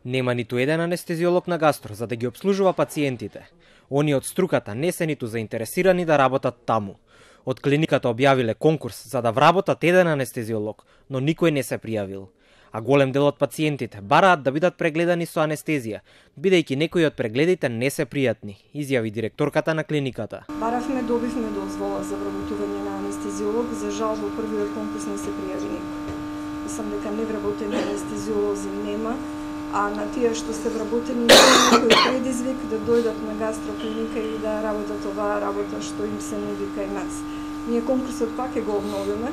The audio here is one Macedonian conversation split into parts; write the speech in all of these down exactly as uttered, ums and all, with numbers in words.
Нема ниту еден анестезиолог на гастро за да ги обслужува пациентите. Они од струката не се ниту заинтересирани да работат таму. Од клиниката објавиле конкурс за да вработат еден анестезиолог, но никој не се пријавил. А голем дел од пациентите бараат да бидат прегледани со анестезија, бидејќи некои од прегледите не се пријатни, изјави директорката на клиниката. Баравме, добивме дозвола за вработување на анестезиолог, за жал во првиот конкурс не се пријави никој. Мислам дека невработени анестезиолози нема, а на тие што се вработени некој предизвик да дојдат на гастроклиника и да работат оваа работа што им се нуди кај нас. Ние конкурсот пак ќе го обновиме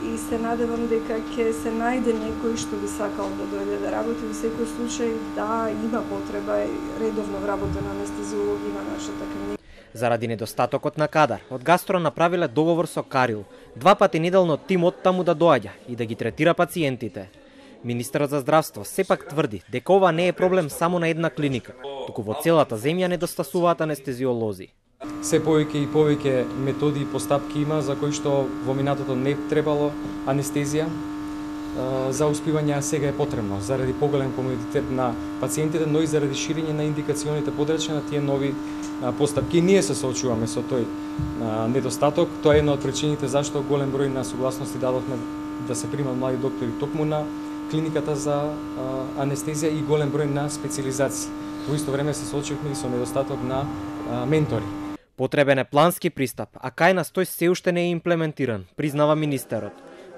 и се надевам дека ќе се најде некој што би сакал да дојде да работи. Во секој случај да има потреба и редовно вработен анестезиолози на нашата клиника. Заради недостатокот на кадар, од гастро направиле договор со Карил, два пати неделно тимот таму да доаѓа и да ги третира пациентите. Министерот за здравство сепак тврди дека ова не е проблем само на една клиника, туку во целата земја недостасуваат анестезиолози. Се повеќе и повеќе методи и постапки има за кои што во минатото не требало анестезија за успивање, а сега е потребно заради поголем комодитет на пациентите, но и заради ширење на индикационите подрачја на тие нови постапки. Ние се соочуваме со тој недостаток. Тоа е една од причините зашто голем број на согласности дадовме да се примат млади доктори токму на клиниката за анестезија и голем број на специализации. Во исто време се соочивме и со недостаток на ментори. Потребен е плански пристап, а кај нас тој се уште не е имплементиран, признава министерот.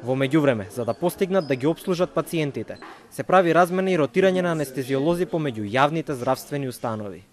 Во меѓувреме, за да постигнат да ги обслужат пациентите, се прави размена и ротирање на анестезиолози помеѓу јавните здравствени установи.